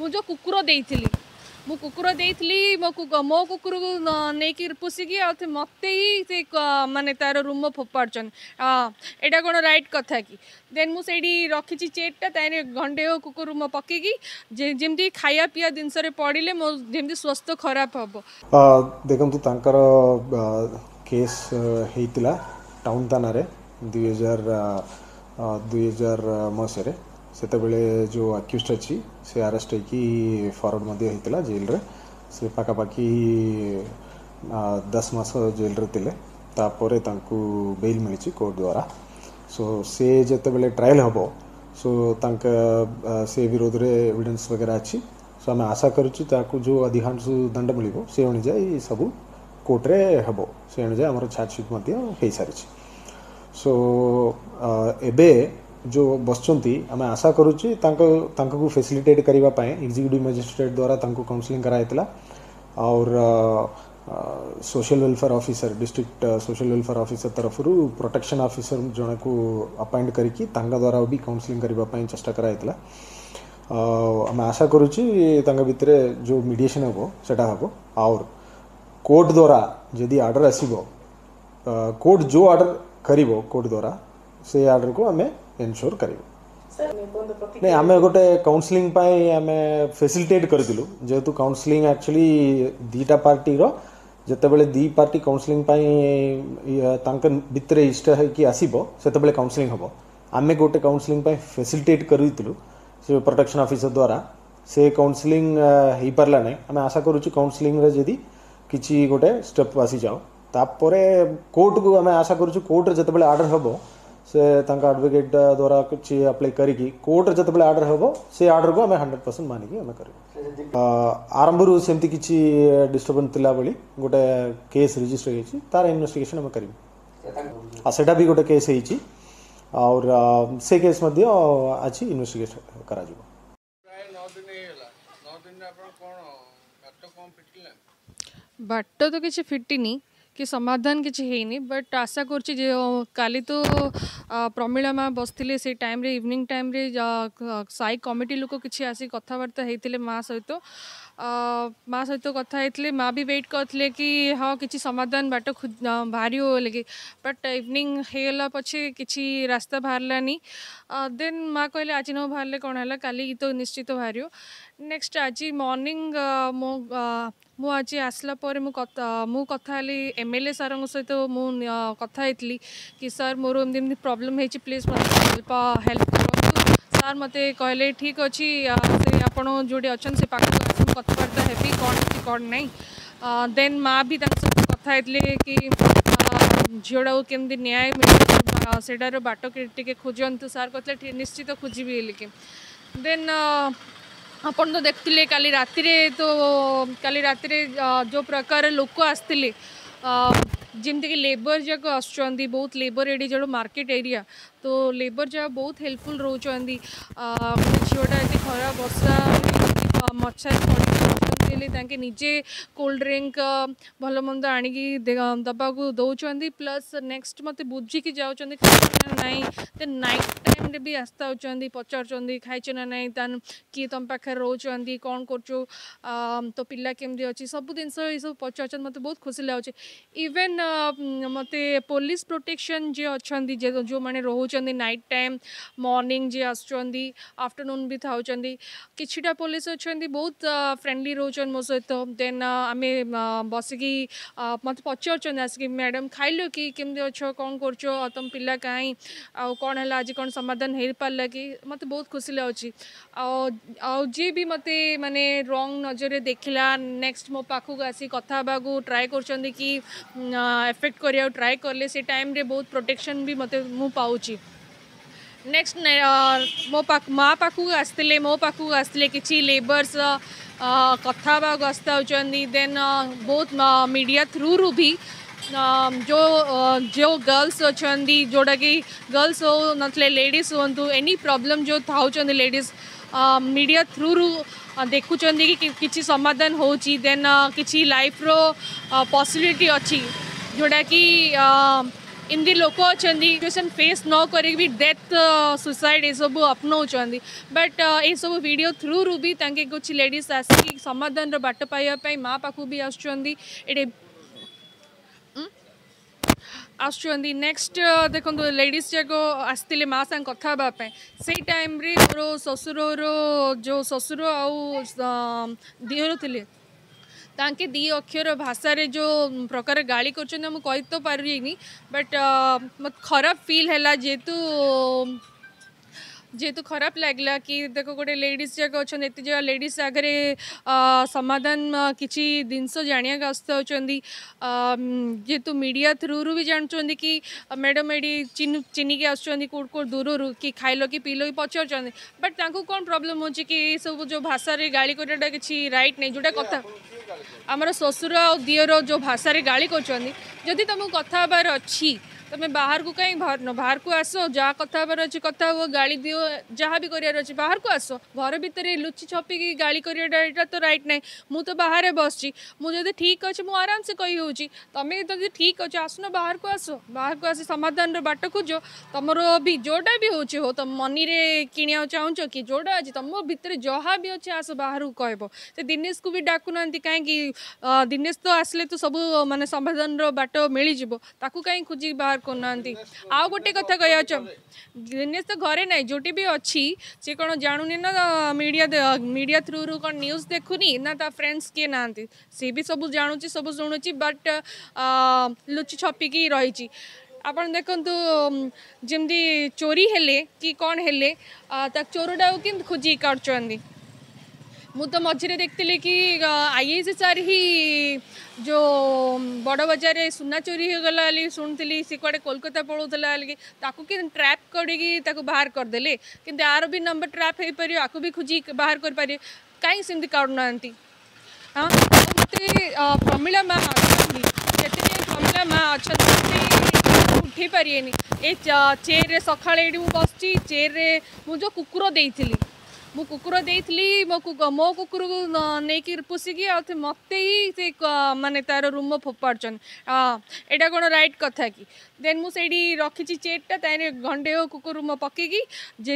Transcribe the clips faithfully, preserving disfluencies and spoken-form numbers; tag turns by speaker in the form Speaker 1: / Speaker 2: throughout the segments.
Speaker 1: ମୁଁ ଯେଉଁ କୁକୁର ଦେଇଥିଲି, ମୁଁ କୁକୁର ଦେଇଥିଲି, ମୋ ମୋ କୁକୁରକୁ ନେଇକି ପୋଷିକି ଆଉ ମୋତେ ହିଁ ସେ ମାନେ ତାର ରୁମ ଫୋପାଡ଼ୁଛନ୍ତି। ଏଇଟା କ'ଣ ରାଇଟ୍ କଥା କି? ଦେନ୍ ମୁଁ ସେଇଠି ରଖିଛି ଚେଟ୍ଟା, ତାହିଁରେ ଗଣ୍ଡେ କୁକୁର ରୁମ ପକେଇକି, ଯେମିତି ଖାଇବା ପିଇବା ଜିନିଷରେ ପଡ଼ିଲେ ମୋ ଯେମିତି ସ୍ୱାସ୍ଥ୍ୟ ଖରାପ ହେବ।
Speaker 2: ଦେଖନ୍ତୁ, ତାଙ୍କର କେସ୍ ହେଇଥିଲା ଟାଉନ୍ ଥାନାରେ ଦୁଇ ହଜାର ଦୁଇ ହଜାର ମସିହାରେ। ସେତେବେଳେ ଯେଉଁ ଆକ୍ୟୁଜ୍ ଅଛି, ସେ ଆରେଷ୍ଟ ହେଇକି ଫରୱାର୍ଡ଼ ମଧ୍ୟ ହେଇଥିଲା ଜେଲରେ। ସେ ପାଖାପାଖି ଦଶ ମାସ ଜେଲରେ ଥିଲେ। ତାପରେ ତାଙ୍କୁ ବେଲ୍ ମିଳିଛି କୋର୍ଟ ଦ୍ୱାରା। ସୋ ସେ ଯେତେବେଳେ ଟ୍ରାଏଲ୍ ହେବ, ସୋ ତାଙ୍କ ସେ ବିରୋଧରେ ଏଭିଡେନ୍ସ ବଗେରା ଅଛି। ସୋ ଆମେ ଆଶା କରୁଛୁ ତାକୁ ଯେଉଁ ଅଧିକାଂଶ ଦଣ୍ଡ ମିଳିବ, ସେ ଅନୁଯାୟୀ ସବୁ କୋର୍ଟରେ ହେବ। ସେ ଅନୁଯାୟୀ ଆମର ଚାର୍ଜସିଟ୍ ମଧ୍ୟ ହେଇସାରିଛି। ସୋ ଏବେ ଯେଉଁ ବସିଛନ୍ତି, ଆମେ ଆଶା କରୁଛୁ ତାଙ୍କ ତାଙ୍କୁ ଫେସିଲିଟେଟ୍ କରିବା ପାଇଁ ଏକ୍ଜିକ୍ୟୁଟିଭ୍ ମାଜିଷ୍ଟ୍ରେଟ୍ ଦ୍ୱାରା ତାଙ୍କୁ କାଉନସିଲିଂ କରାଯାଇଥିଲା, ଆଉ social welfare officer, district social welfare officer ତରଫରୁ ପ୍ରୋଟେକ୍ସନ୍ ଅଫିସର ଜଣକୁ ଆପଏଣ୍ଟ କରିକି ତାଙ୍କ ଦ୍ୱାରା ବି କାଉନସିଲିଂ କରିବା ପାଇଁ ଚେଷ୍ଟା କରାଯାଇଥିଲା। ଆମେ ଆଶା କରୁଛୁ ତାଙ୍କ ଭିତରେ ଯେଉଁ ମିଡ଼ିଏସନ୍ ହେବ, ସେଟା ହେବ, ଆଉ କୋର୍ଟ ଦ୍ୱାରା ଯଦି ଅର୍ଡ଼ର ଆସିବ, କୋର୍ଟ ଯେଉଁ ଅର୍ଡ଼ର କରିବ କୋର୍ଟ ଦ୍ୱାରା, ସେ ଅର୍ଡ଼ରକୁ ଆମେ ଏନସ୍યોର କରିବୁ। ନାଇଁ, ଆମେ ଗୋଟେ କାଉନସିଲିଂ ପାଇଁ ଆମେ ଫେସିଲିଟେଟ୍ କରିଥିଲୁ। ଯେହେତୁ କାଉନସିଲିଂ ଆକ୍ଚୁଆଲି ଦୁଇଟା ପାର୍ଟିର, ଯେତେବେଳେ ଦୁଇ ପାର୍ଟି କାଉନସିଲିଂ ପାଇଁ ତାଙ୍କ ଭିତରେ ଇଷ୍ଟ ହେଇକି ଆସିବ, ସେତେବେଳେ କାଉନସିଲିଂ ହେବ। ଆମେ ଗୋଟେ କାଉନସିଲିଂ ପାଇଁ ଫେସିଲିଟେଟ୍ କରିଥିଲୁ ସେ ପ୍ରୋଟେକ୍ସନ୍ ଅଫିସର ଦ୍ୱାରା। ସେ କାଉନସିଲିଂ ହେଇପାରିଲା ନାହିଁ। ଆମେ ଆଶା କରୁଛୁ କାଉନସିଲିଂରେ ଯଦି କିଛି ଗୋଟେ ଷ୍ଟେପ୍ ଆସିଯାଉ, ତାପରେ କୋର୍ଟକୁ ଆମେ ଆଶା କରୁଛୁ କୋର୍ଟରେ ଯେତେବେଳେ ଅର୍ଡ଼ର ହେବ, ସେ ତାଙ୍କ ଆଡ଼ଭୋକେଟ୍ ଦ୍ୱାରା କିଛି ଆପ୍ଲାଏ କରିକି କୋର୍ଟରେ ଯେତେବେଳେ ଅର୍ଡ଼ର ହେବ, ସେ ଅର୍ଡ଼ରକୁ ଆମେ ହଣ୍ଡ୍ରେଡ଼ ପରସେଣ୍ଟ ମାନିକି ଆମେ କରିବୁ। ଆରମ୍ଭରୁ ସେମିତି କିଛି ଡିଷ୍ଟର୍ବାନ୍ସ ଥିଲା ଭଳି ଗୋଟେ କେସ୍ ରେଜିଷ୍ଟର ହେଇଛି, ତାର ଇନଭେଷ୍ଟିଗେସନ୍ ଆମେ କରିବୁ। ଆଉ ସେଇଟା ବି ଗୋଟେ କେସ୍ ହେଇଛି, ଆଉ ସେ କେସ୍ ମଧ୍ୟ ଅଛି, ଇନଭେଷ୍ଟିଗେସନ୍ କରାଯିବ।
Speaker 3: ନଅ ଦିନ ହେଇଗଲା। ନଅ ଦିନରେ ଆପଣ କ'ଣ ବାଟ କ'ଣ ଫିଟିଲା?
Speaker 1: ବାଟ ତ କିଛି ଫିଟିନି କି ସମାଧାନ କିଛି ହେଇନି, ବଟ୍ ଆଶା କରୁଛି ଯେ କାଲି ତ ପ୍ରମିଳା ମା ବସିଥିଲେ, ସେଇ ଟାଇମ୍ରେ ଇଭିନିଂ ଟାଇମ୍ରେ ସାଇ କମିଟି ଲୋକ କିଛି ଆସି କଥାବାର୍ତ୍ତା ହେଇଥିଲେ ମା ସହିତ। ମା ସହିତ କଥା ହେଇଥିଲେ, ମା ବି ୱେଟ୍ କରିଥିଲେ କି ହଁ, କିଛି ସମାଧାନ ବାଟ ବାହାରିବ ବୋଲିକି। ବଟ୍ ଇଭିନିଂ ହେଇଗଲା ପଛେ କିଛି ରାସ୍ତା ବାହାରିଲାନି। ଦେନ୍ ମା କହିଲେ, ଆଜି ନ ବାହାରିଲେ କ'ଣ ହେଲା, କାଲି ତ ନିଶ୍ଚିତ ବାହାରିବ। ନେକ୍ସଟ ଆଜି ମର୍ଣ୍ଣିଂ ମୁଁ ମୁଁ ଆଜି ଆସିଲା ପରେ ମୁଁ ମୁଁ କଥା ହେଲି ଏମ୍ ଏଲ୍ ଏ ସାର୍ଙ୍କ ସହିତ। ମୁଁ କଥା ହେଇଥିଲି କି ସାର୍, ମୋର ଏମିତି ଏମିତି ପ୍ରୋବ୍ଲେମ୍ ହେଇଛି, ପ୍ଲିଜ୍ ମୋତେ ହେଲ୍ପ ହେଲ୍ପ କରନ୍ତୁ ସାର୍। ମୋତେ କହିଲେ, ଠିକ୍ ଅଛି, ସେ ଆପଣ ଯେଉଁଠି ଅଛନ୍ତି ସେ ପାଖକୁ ଆସି ମୁଁ କଥାବାର୍ତ୍ତା ହେବି, କ'ଣ ହେଇଛି କ'ଣ ନାହିଁ। ଦେନ୍ ମା ବି ତାଙ୍କ ସହିତ କଥା ହେଇଥିଲେ କି ଝିଅଟାକୁ କେମିତି ନ୍ୟାୟ ମିଳିବ, ସେଇଟାର ବାଟ ଟିକେ ଖୋଜନ୍ତୁ ସାର୍। କହିଥିଲେ, ନିଶ୍ଚିତ ଖୋଜିବି ବୋଲିକି। ଦେନ୍ ଆପଣ ତ ଦେଖୁଥିଲେ କାଲି ରାତିରେ ତ, କାଲି ରାତିରେ ଯେଉଁ ପ୍ରକାର ଲୋକ ଆସିଥିଲେ, ଯେମିତିକି ଲେବର ଯାକ ଆସୁଛନ୍ତି, ବହୁତ ଲେବର ଏଠି ଯେଉଁ ମାର୍କେଟ ଏରିଆ ତ, ଲେବର ଯାକ ବହୁତ ହେଲ୍ପଫୁଲ୍ ରହୁଛନ୍ତି। ଗୋଟେ ଝିଅଟା ଏତେ ଖରା ବର୍ଷା ମଛାରେ ପଡ଼ିକି ଅଛନ୍ତି ହେଲେ ତାଙ୍କେ ନିଜେ କୋଲ୍ଡ ଡ୍ରିଙ୍କ ଭଲ ମନ୍ଦ ଆଣିକି ଦେବାକୁ ଦେଉଛନ୍ତି। ପ୍ଲସ୍ ନେକ୍ସଟ ମୋତେ ବୁଝିକି ଯାଉଛନ୍ତି, ଖାଇଛ ନା ନାହିଁ। ଦେନ୍ ନାଇଟ୍ ଟାଇମ୍ରେ ବି ଆସିଥାଉଛନ୍ତି, ପଚାରୁଛନ୍ତି ଖାଇଛ ନା ନାହିଁ, ତା କିଏ ତୁମ ପାଖରେ ରହୁଛନ୍ତି, କ'ଣ କରୁଛୁ, ତୋ ପିଲା କେମିତି ଅଛି, ସବୁ ଜିନିଷ ଏସବୁ ପଚାରୁଛନ୍ତି। ମୋତେ ବହୁତ ଖୁସି ଲାଗୁଛି। ଇଭେନ୍ ମୋତେ ପୋଲିସ ପ୍ରୋଟେକ୍ସନ୍ ଯିଏ ଅଛନ୍ତି, ଯେଉଁମାନେ ରହୁଛନ୍ତି ନାଇଟ୍ ଟାଇମ୍, ମର୍ଣ୍ଣିଂ ଯିଏ ଆସୁଛନ୍ତି, ଆଫ୍ଟରନୁନ୍ ବି ଥାଉଛନ୍ତି, କିଛିଟା ପୋଲିସ ଅଛନ୍ତି ବହୁତ ଫ୍ରେଣ୍ଡଲି ରହୁଛନ୍ତି ମୋ ସହିତ। ଦେନ୍ ଆମେ ବସିକି ମୋତେ ପଚାରୁଛନ୍ତି ଆସିକି, ମ୍ୟାଡ଼ାମ୍ ଖାଇଲ କି, କେମିତି ଅଛ, କ'ଣ କରୁଛ, ତୁମ ପିଲା କାହିଁ, ଆଉ କ'ଣ ହେଲା, ଆଜି କ'ଣ ସମାଧାନ ହେଇପାରିଲା କି? ମୋତେ ବହୁତ ଖୁସି ଲାଗୁଛି। ଆଉ ଆଉ ଯିଏ ବି ମୋତେ ମାନେ ରଙ୍ଗ ନଜରରେ ଦେଖିଲା, ନେକ୍ସଟ ମୋ ପାଖକୁ ଆସି କଥା ହେବାକୁ ଟ୍ରାଏ କରୁଛନ୍ତି କି ଏଫେକ୍ଟ କରିବାକୁ ଟ୍ରାଏ କଲେ, ସେ ଟାଇମ୍ରେ ବହୁତ ପ୍ରୋଟେକ୍ସନ୍ ବି ମୋତେ ମୁଁ ପାଉଛି। ନେକ୍ସଟ ମୋ ପାଖ ମା ପାଖକୁ ଆସିଥିଲେ, ମୋ ପାଖକୁ ଆସିଥିଲେ, କିଛି ଲେବର୍ସ କଥା ହେବାକୁ ଆସିଥାଉଛନ୍ତି। ଦେନ୍ ବହୁତ ମିଡ଼ିଆ ଥ୍ରୁରୁ ବି ଯେଉଁ ଯେଉଁ ଗର୍ଲସ ଅଛନ୍ତି, ଯେଉଁଟାକି ଗର୍ଲସ ହଉ ନଥିଲେ ଲେଡ଼ିଜ୍ ହୁଅନ୍ତୁ, ଏନି ପ୍ରୋବ୍ଲେମ୍ ଯେଉଁ ଥାଉଛନ୍ତି ଲେଡ଼ିଜ୍, ମିଡ଼ିଆ ଥ୍ରୁରୁ ଦେଖୁଛନ୍ତି କି କିଛି ସମାଧାନ ହେଉଛି, ଦେନ୍ କିଛି ଲାଇଫ୍ର ପସିବିଲିଟି ଅଛି, ଯେଉଁଟାକି ଏମିତି ଲୋକ ଅଛନ୍ତି ସିଚୁଏସନ୍ ଫେସ୍ ନ କରିକି ବି ଡେଥ୍, ସୁସାଇଡ଼୍ ଏସବୁ ଆପଣାଉଛନ୍ତି। ବଟ୍ ଏସବୁ ଭିଡ଼ିଓ ଥ୍ରୁରୁ ବି ତାଙ୍କେ କିଛି ଲେଡ଼ିଜ୍ ଆସିକି ସମାଧାନର ବାଟ ପାଇବା ପାଇଁ ମା ପାଖକୁ ବି ଆସୁଛନ୍ତି, ଏଠି ଆସୁଛନ୍ତି। ନେକ୍ସଟ ଦେଖନ୍ତୁ, ଲେଡ଼ିଜ୍ ଯାକ ଆସିଥିଲେ ମା ସାଙ୍ଗେ କଥା ହେବା ପାଇଁ। ସେଇ ଟାଇମ୍ରେ ମୋର ଶ୍ୱଶୁରର ଯେଉଁ ଶ୍ୱଶୁର ଆଉ ଦିଅର ଥିଲେ, ତାଙ୍କେ ଦୁଇ ଅକ୍ଷର ଭାଷାରେ ଯେଉଁ ପ୍ରକାର ଗାଳି କରୁଛନ୍ତି, ମୁଁ କହି ତ ପାରିବିନି, ବଟ୍ ମୋତେ ଖରାପ ଫିଲ୍ ହେଲା। ଯେହେତୁ ଯେହେତୁ ଖରାପ ଲାଗିଲା କି ଦେଖ, ଗୋଟେ ଲେଡ଼ିଜ୍ ଯାକ ଅଛନ୍ତି, ଏତେ ଜାଗା ଲେଡ଼ିଜ୍ ଆଗରେ ସମାଧାନ କିଛି ଜିନିଷ ଜାଣିବାକୁ ଆସିଥାଉଛନ୍ତି। ଯେହେତୁ ମିଡ଼ିଆ ଥ୍ରୁରୁ ବି ଜାଣୁଛନ୍ତି କି ମ୍ୟାଡ଼ାମ୍ ଏଠି ଚିହ୍ନି ଚିହ୍ନିକି ଆସୁଛନ୍ତି କେଉଁଠୁ କେଉଁଠୁ ଦୂରରୁ, କି ଖାଇଲ କି ପିଇଲ କି ପଚାରୁଛନ୍ତି। ବଟ୍ ତାଙ୍କୁ କ'ଣ ପ୍ରୋବ୍ଲେମ୍ ହେଉଛି କି ଏସବୁ ଯେଉଁ ଭାଷାରେ ଗାଳି କରିବାଟା କିଛି ରାଇଟ୍ ନାହିଁ। ଯେଉଁଟା କଥା ଆମର ଶ୍ୱଶୁର ଆଉ ଦିଅର ଯେଉଁ ଭାଷାରେ ଗାଳି କରୁଛନ୍ତି, ଯଦି ତୁମକୁ କଥା ହେବାର ଅଛି ତୁମେ ବାହାରକୁ କାହିଁ ବାହାରୁନ? ବାହାରକୁ ଆସ, ଯାହା କଥା ହେବାର ଅଛି କଥା ହୁଅ, ଗାଳି ଦିଅ, ଯାହା ବି କରିବାର ଅଛି ବାହାରକୁ ଆସ। ଘର ଭିତରେ ଲୁଚି ଛପିକି ଗାଳି କରିବାଟା ଏଇଟା ତ ରାଇଟ୍ ନାହିଁ। ମୁଁ ତ ବାହାରେ ବସିଛି, ମୁଁ ଯଦି ଠିକ୍ ଅଛି ମୁଁ ଆରାମସେ କହି ହେଉଛି। ତମେ ଯଦି ଠିକ୍ ଅଛି ଆସୁନ, ବାହାରକୁ ଆସ, ବାହାରକୁ ଆସି ସମାଧାନର ବାଟ ଖୋଜ। ତମର ବି ଯେଉଁଟା ବି ହେଉଛି ହଉ, ତମ ମନିରେ କିଣିବାକୁ ଚାହୁଁଛ କି ଯେଉଁଟା ଅଛି, ତମ ଭିତରେ ଯାହା ବି ଅଛି ଆସ ବାହାରକୁ କହିବ। ସେ ଦିନେଶକୁ ବି ଡାକୁନାହାନ୍ତି କାହିଁକି? ଦିନେଶ ତ ଆସିଲେ ତ ସବୁ ମାନେ ସମାଧାନର ବାଟ ମିଳିଯିବ, ତାକୁ କାହିଁ ଖୋଜିକି ବାହାର କରୁନାହାନ୍ତି? ଆଉ ଗୋଟେ କଥା କହିବାକୁ ଚାହୁଁ, ଦିନେଶ ତ ଘରେ ନାହିଁ, ଯେଉଁଠି ବି ଅଛି ସେ କ'ଣ ଜାଣୁନି ନା ମିଡ଼ିଆ ମିଡ଼ିଆ ଥ୍ରୁରୁ କ'ଣ ନ୍ୟୁଜ୍ ଦେଖୁନି ନା ତା ଫ୍ରେଣ୍ଡସ୍ କିଏ ନାହାନ୍ତି? ସେ ବି ସବୁ ଜାଣୁଛି, ସବୁ ଶୁଣୁଛି, ବଟ୍ ଲୁଚି ଛପିକି ରହିଛି। ଆପଣ ଦେଖନ୍ତୁ, ଯେମିତି ଚୋରି ହେଲେ କି କ'ଣ ହେଲେ ତା ଚୋରଟାକୁ କେମିତି ଖୋଜିକି କାଢ଼ୁଛନ୍ତି। ମୁଁ ତ ମଝିରେ ଦେଖିଥିଲି କି I I C sir ହିଁ ଯେଉଁ ବଡ଼ ବଜାରରେ ସୁନା ଚୋରି ହେଇଗଲା ବୋଲି ଶୁଣିଥିଲି, ସେ କୁଆଡ଼େ କୋଲକାତା ପଳାଉଥିଲା ବୋଲିକି, ତାକୁ କେମିତି ଟ୍ରାପ୍ କରିକି ତାକୁ ବାହାର କରିଦେଲେ। କିନ୍ତୁ ଆର ବି ନମ୍ବର ଟ୍ରାପ୍ ହେଇପାରିବ, ଆକୁ ବି ଖୋଜିକି ବାହାର କରିପାରିବେ, କାହିଁକି ସେମିତି କାଢ଼ୁନାହାନ୍ତି? ହଁ, ମୋତେ ପ୍ରମିଳା ମା ଅଛନ୍ତି, ଯେତେ ପ୍ରମିଳା ମା ଅଛନ୍ତି ଉଠେଇ ପାରିବେନି। ଏ ଚେୟାରରେ ସକାଳେ ଏଇଠି ମୁଁ ବସିଛି, ଚେୟାରରେ ମୁଁ ଯେଉଁ କୁକୁର ଦେଇଥିଲି, ମୁଁ କୁକୁର ଦେଇଥିଲି, ମୋ ମୋ କୁକୁରକୁ ନେଇକି ପୋଷିକି ଆଉ ମୋତେ ହିଁ ସେ ମାନେ ତାର ରୁମ ଫୋପାଡ଼ୁଛନ୍ତି। ଏଇଟା କ'ଣ ରାଇଟ୍ କଥା କି? ଦେନ୍ ମୁଁ ସେଇଠି ରଖିଛି ଚେୟାରଟା, ତାହିଁରେ ଗଣ୍ଡେ କୁକୁର ରୁମ ପକେଇକି,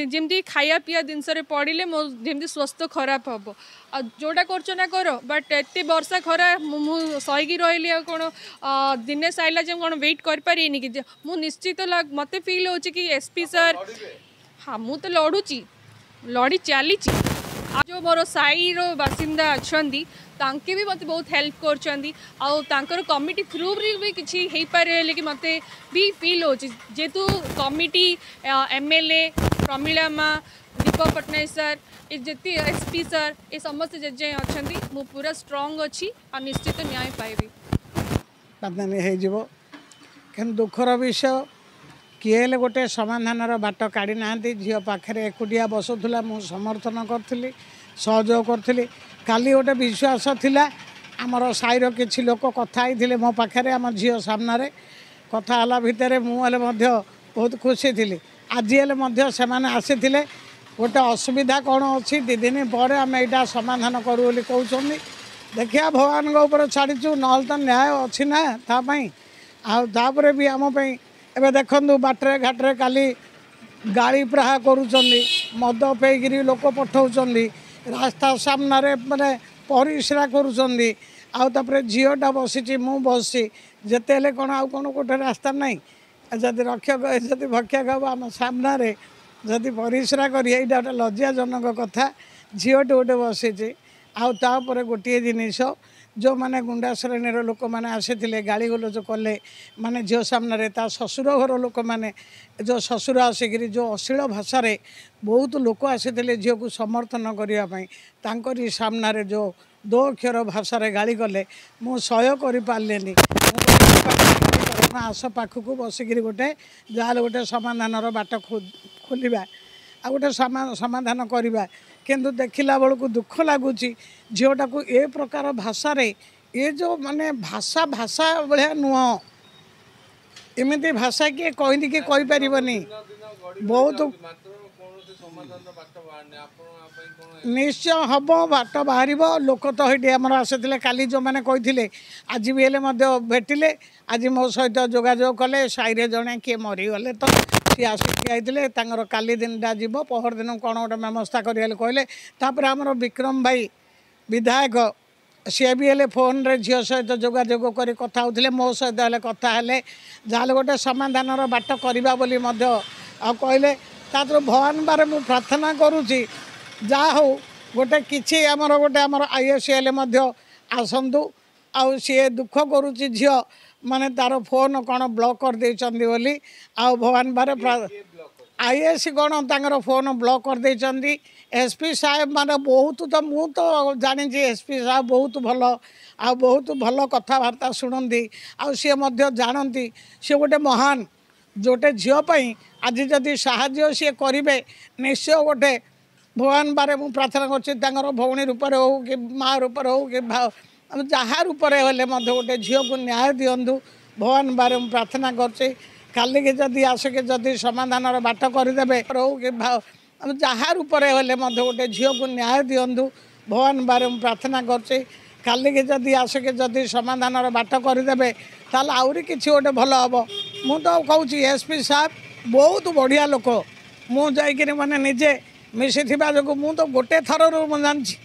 Speaker 1: ଯେମିତି ଖାଇବା ପିଇବା ଜିନିଷରେ ପଡ଼ିଲେ ମୋ ଯେମିତି ସ୍ୱାସ୍ଥ୍ୟ ଖରାପ ହେବ। ଆଉ ଯେଉଁଟା କରୁଛ ନା କର, ବଟ୍ ଏତେ ବର୍ଷା ଖରା ମୁଁ ସହିକି ରହିଲି, ଆଉ କ'ଣ ଦିନେଶ ଆଇଲା ଯେ କ'ଣ ୱେଟ୍ କରିପାରିବେନି କି? ମୁଁ ନିଶ୍ଚିତ ମୋତେ ଫିଲ୍ ହେଉଛି କି ଏସ୍ ପି ସାର୍। ହଁ, ମୁଁ ତ ଲଢ଼ୁଛି, ଲଢ଼ି ଚାଲିଛି। ଆଉ ଯେଉଁ ମୋର ସାହିର ବାସିନ୍ଦା ଅଛନ୍ତି, ତାଙ୍କେ ବି ମୋତେ ବହୁତ ହେଲ୍ପ କରୁଛନ୍ତି, ଆଉ ତାଙ୍କର କମିଟି ଥ୍ରୁରେ ବି କିଛି ହେଇପାରେ ବୋଲିକି ମୋତେ ବି ଫିଲ୍ ହେଉଛି। ଯେହେତୁ committee, M L A Pramila ମା, ଦୀପକ ପଟ୍ଟନାୟକ ସାର୍, ଏ ଯେତେ ଏସ୍ ପି ସାର୍, ଏ ସମସ୍ତେ ଯେ ଯାଏଁ ଅଛନ୍ତି ମୁଁ ପୁରା ଷ୍ଟ୍ରଙ୍ଗ ଅଛି ଆଉ ନିଶ୍ଚିତ ନ୍ୟାୟ ପାଇବି।
Speaker 4: ହେଇଯିବ, କିନ୍ତୁ ଦୁଃଖର ବିଷୟ କିଏ ହେଲେ ଗୋଟେ ସମାଧାନର ବାଟ କାଢ଼ି ନାହାନ୍ତି। ଝିଅ ପାଖରେ ଏକୁଟିଆ ବସୁଥିଲା, ମୁଁ ସମର୍ଥନ କରିଥିଲି, ସହଯୋଗ କରିଥିଲି। କାଲି ଗୋଟେ ବିଶ୍ୱାସ ଥିଲା, ଆମର ସାହିର କିଛି ଲୋକ କଥା ହେଇଥିଲେ ମୋ ପାଖରେ, ଆମ ଝିଅ ସାମ୍ନାରେ କଥା ହେଲା ଭିତରେ ମୁଁ ହେଲେ ମଧ୍ୟ ବହୁତ ଖୁସି ଥିଲି। ଆଜି ହେଲେ ମଧ୍ୟ ସେମାନେ ଆସିଥିଲେ, ଗୋଟେ ଅସୁବିଧା କ'ଣ ଅଛି, ଦୁଇ ଦିନ ପରେ ଆମେ ଏଇଟା ସମାଧାନ କରୁ ବୋଲି କହୁଛନ୍ତି। ଦେଖିବା, ଭଗବାନଙ୍କ ଉପରେ ଛାଡ଼ିଛୁ, ନହେଲେ ତ ନ୍ୟାୟ ଅଛି ନା ତା ପାଇଁ। ଆଉ ତାପରେ ବି ଆମ ପାଇଁ ଏବେ ଦେଖନ୍ତୁ, ବାଟରେ ଘାଟରେ କାଲି ଗାଳି ପ୍ରାହା କରୁଛନ୍ତି, ମଦ ପେଇକିରି ଲୋକ ପଠାଉଛନ୍ତି, ରାସ୍ତା ସାମ୍ନାରେ ମାନେ ପରିସ୍ରା କରୁଛନ୍ତି। ଆଉ ତାପରେ ଝିଅଟା ବସିଛି, ମୁଁ ବସିଛି, ଯେତେ ହେଲେ କ'ଣ ଆଉ କ'ଣ ଗୋଟେ ରାସ୍ତା ନାହିଁ? ଯଦି ରକ୍ଷକ ଯଦି ଭକ୍ଷକ ହେବ, ଆମ ସାମ୍ନାରେ ଯଦି ପରିସ୍ରା କରି, ଏଇଟା ଗୋଟେ ଲଜ୍ଜାଜନକ କଥା। ଝିଅଟି ଗୋଟେ ବସିଛି। ଆଉ ତାପରେ ଗୋଟିଏ ଜିନିଷ, ଯେଉଁମାନେ ଗୁଣ୍ଡା ଶ୍ରେଣୀର ଲୋକମାନେ ଆସିଥିଲେ, ଗାଳି ଗୁଲଜ କଲେ ମାନେ ଝିଅ ସାମ୍ନାରେ, ତା ଶ୍ୱଶୁର ଘର ଲୋକମାନେ, ଯେଉଁ ଶ୍ୱଶୁର ଆସିକିରି ଯେଉଁ ଅଶ୍ଳୀଳ ଭାଷାରେ, ବହୁତ ଲୋକ ଆସିଥିଲେ ଝିଅକୁ ସମର୍ଥନ କରିବା ପାଇଁ, ତାଙ୍କରି ସାମ୍ନାରେ ଯେଉଁ ଦୋ ଅକ୍ଷର ଭାଷାରେ ଗାଳି କଲେ, ମୁଁ ସହ୍ୟ କରିପାରିଲିନି। ମୁଁ ଆସ ପାଖକୁ ବସିକିରି ଗୋଟେ ଯାହାହେଲେ ଗୋଟେ ସମାଧାନର ବାଟ ଖୋଲିବା ଆଉ ଗୋଟେ ସମାଧାନ କରିବା। କିନ୍ତୁ ଦେଖିଲା ବେଳକୁ ଦୁଃଖ ଲାଗୁଛି, ଝିଅଟାକୁ ଏ ପ୍ରକାର ଭାଷାରେ, ଏ ଯେଉଁ ମାନେ ଭାଷା ଭାଷା ଭଳିଆ ନୁହଁ, ଏମିତି ଭାଷା କିଏ କହିନି କି କହିପାରିବନି। ବହୁତ
Speaker 3: ମାତ୍ର କୌଣସି ସମାଧାନର ବାଟ ବାହାରିନି, ଆପଣ ଆ ପାଇଁ କ'ଣ?
Speaker 4: ନିଶ୍ଚୟ ହେବ, ବାଟ ବାହାରିବ। ଲୋକ ତ ହେଇଠି ଆମର ଆସିଥିଲେ କାଲି, ଯେଉଁମାନେ କହିଥିଲେ ଆଜି ବି ହେଲେ ମଧ୍ୟ ଭେଟିଲେ, ଆଜି ମୋ ସହିତ ଯୋଗାଯୋଗ କଲେ। ସାହିରେ ଜଣେ କିଏ ମରିଗଲେ ତ ସିଏ ଆସି ଠିଆ ହେଇଥିଲେ। ତାଙ୍କର କାଲି ଦିନଟା ଯିବ, ପହର ଦିନ କ'ଣ ଗୋଟେ ବ୍ୟବସ୍ଥା କରିବା ବୋଲି କହିଲେ। ତାପରେ ଆମର ବିକ୍ରମ ଭାଇ ବିଧାୟକ, ସିଏ ବି ହେଲେ ଫୋନ୍ରେ ଝିଅ ସହିତ ଯୋଗାଯୋଗ କରି କଥା ହେଉଥିଲେ, ମୋ ସହିତ ହେଲେ କଥା ହେଲେ। ଯାହାହେଲେ ଗୋଟେ ସମାଧାନର ବାଟ କରିବା ବୋଲି ମଧ୍ୟ ଆଉ କହିଲେ। ତାପରେ ଭଗବାନ ବାରେ ମୁଁ ପ୍ରାର୍ଥନା କରୁଛି, ଯାହା ହଉ ଗୋଟେ କିଛି ଆମର ଗୋଟେ ଆମର I S ହେଲେ ମଧ୍ୟ ଆସନ୍ତୁ। ଆଉ ସିଏ ଦୁଃଖ କରୁଛି ଝିଅ, ମାନେ ତାର ଫୋନ୍ କ'ଣ ବ୍ଲକ୍ କରିଦେଇଛନ୍ତି ବୋଲି। ଆଉ ଭଗବାନ ବାରେ I S କ'ଣ ତାଙ୍କର ଫୋନ୍ ବ୍ଲକ୍ କରିଦେଇଛନ୍ତି। ଏସ୍ ପି ସାହେବ ମାନେ ବହୁତ ତ ମୁଁ ତ ଜାଣିଛି, ଏସ୍ ପି ସାହେବ ବହୁତ ଭଲ ଆଉ ବହୁତ ଭଲ କଥାବାର୍ତ୍ତା ଶୁଣନ୍ତି, ଆଉ ସିଏ ମଧ୍ୟ ଜାଣନ୍ତି ସିଏ ଗୋଟେ ମହାନ। ଗୋଟେ ଝିଅ ପାଇଁ ଆଜି ଯଦି ସାହାଯ୍ୟ ସିଏ କରିବେ, ନିଶ୍ଚୟ ଗୋଟେ ଭଗବାନ ବାରେ ମୁଁ ପ୍ରାର୍ଥନା କରୁଛି, ତାଙ୍କର ଭଉଣୀ ରୂପରେ ହେଉ କି ମା ରୂପରେ ହେଉ କି ଯାହା ରୂପରେ ହେଲେ ମଧ୍ୟ ଗୋଟେ ଝିଅକୁ ନ୍ୟାୟ ଦିଅନ୍ତୁ। ଭଗବାନ ବାରେ ମୁଁ ପ୍ରାର୍ଥନା କରୁଛି, କାଲିକି ଯଦି ଆସିକି ଯଦି ସମାଧାନର ବାଟ କରିଦେବେ ହେଉ କି ଯାହା ରୂପରେ ହେଲେ ମଧ୍ୟ ଗୋଟେ ଝିଅକୁ ନ୍ୟାୟ ଦିଅନ୍ତୁ। ଭଗବାନ ବାରେ ମୁଁ ପ୍ରାର୍ଥନା କରୁଛି, କାଲିକି ଯଦି ଆସିକି ଯଦି ସମାଧାନର ବାଟ କରିଦେବେ, ତାହେଲେ ଆହୁରି କିଛି ଗୋଟେ ଭଲ ହେବ। ମୁଁ ତ କହୁଛି ଏସ୍ ପି ସାହେବ ବହୁତ ବଢ଼ିଆ ଲୋକ। ମୁଁ ଯାଇକିରି ମାନେ ନିଜେ ମିଶିଥିବା ଯୋଗୁଁ ମୁଁ ତ ଗୋଟେ ଥରରୁ ମୁଁ ଜାଣିଛି,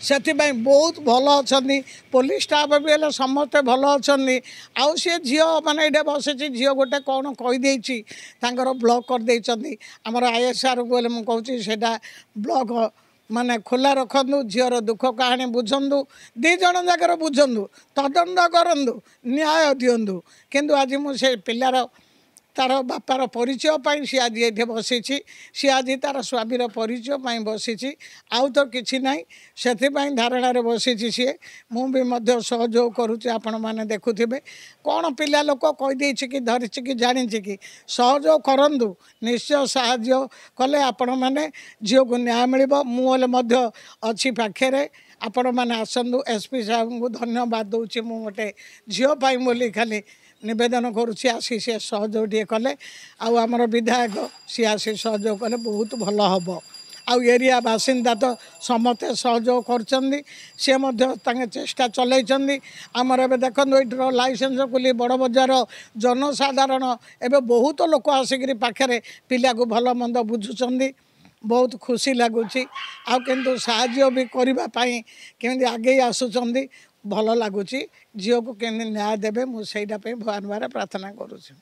Speaker 4: ସେଥିପାଇଁ ବହୁତ ଭଲ ଅଛନ୍ତି। ପୋଲିସ ଷ୍ଟାଫ୍ ବି ହେଲେ ସମସ୍ତେ ଭଲ ଅଛନ୍ତି। ଆଉ ସିଏ ଝିଅ ମାନେ ଏଇଟା ବସିଛି, ଝିଅ ଗୋଟେ କ'ଣ କହିଦେଇଛି, ତାଙ୍କର ବ୍ଲକ୍ କରିଦେଇଛନ୍ତି। ଆମର I S ଆର୍କୁ ହେଲେ ମୁଁ କହୁଛି, ସେଇଟା ବ୍ଲକ୍ ମାନେ ଖୋଲା ରଖନ୍ତୁ, ଝିଅର ଦୁଃଖ କାହାଣୀ ବୁଝନ୍ତୁ, ଦୁଇ ଜଣ ଯାକର ବୁଝନ୍ତୁ, ତଦନ୍ତ କରନ୍ତୁ, ନ୍ୟାୟ ଦିଅନ୍ତୁ। କିନ୍ତୁ ଆଜି ମୁଁ ସେ ପିଲାର ତାର ବାପାର ପରିଚୟ ପାଇଁ ସିଏ ଆଜି ଏଇଠି ବସିଛି, ସିଏ ଆଜି ତାର ସ୍ୱାମୀର ପରିଚୟ ପାଇଁ ବସିଛି, ଆଉ ତ କିଛି ନାହିଁ, ସେଥିପାଇଁ ଧାରଣାରେ ବସିଛି ସିଏ। ମୁଁ ବି ମଧ୍ୟ ସହଯୋଗ କରୁଛି। ଆପଣମାନେ ଦେଖୁଥିବେ କ'ଣ ପିଲା ଲୋକ କହିଦେଇଛି କି ଧରିଛି କି ଜାଣିଛି କି, ସହଯୋଗ କରନ୍ତୁ। ନିଶ୍ଚୟ ସାହାଯ୍ୟ କଲେ ଆପଣମାନେ ଝିଅକୁ ନ୍ୟାୟ ମିଳିବ। ମୁଁ ହେଲେ ମଧ୍ୟ ଅଛି ପାଖରେ, ଆପଣମାନେ ଆସନ୍ତୁ। ଏସ୍ ପି ସାହେବଙ୍କୁ ଧନ୍ୟବାଦ ଦେଉଛି। ମୁଁ ଗୋଟେ ଝିଅ ପାଇଁ ବୋଲି ଖାଲି ନିବେଦନ କରୁଛି, ଆସି ସିଏ ସହଯୋଗ ଟିକେ କଲେ, ଆଉ ଆମର ବିଧାୟକ ସିଏ ଆସି ସହଯୋଗ କଲେ ବହୁତ ଭଲ ହେବ। ଆଉ ଏରିଆ ବାସିନ୍ଦା ତ ସମସ୍ତେ ସହଯୋଗ କରୁଛନ୍ତି, ସିଏ ମଧ୍ୟ ତାଙ୍କେ ଚେଷ୍ଟା ଚଲେଇଛନ୍ତି। ଆମର ଏବେ ଦେଖନ୍ତୁ ଏଇଠିର ଲାଇସେନ୍ସ କୁଲି ବଡ଼ ବଜାର ଜନସାଧାରଣ ଏବେ ବହୁତ ଲୋକ ଆସିକିରି ପାଖରେ ପିଲାକୁ ଭଲ ମନ୍ଦ ବୁଝୁଛନ୍ତି, ବହୁତ ଖୁସି ଲାଗୁଛି। ଆଉ କିନ୍ତୁ ସାହାଯ୍ୟ ବି କରିବା ପାଇଁ କେମିତି ଆଗେଇ ଆସୁଛନ୍ତି, ଭଲ ଲାଗୁଛି। ଝିଅକୁ କେମିତି ନ୍ୟାୟ ଦେବେ, ମୁଁ ସେଇଟା ପାଇଁ ଭଗବାନ ପାଖରେ ପ୍ରାର୍ଥନା କରୁଛି।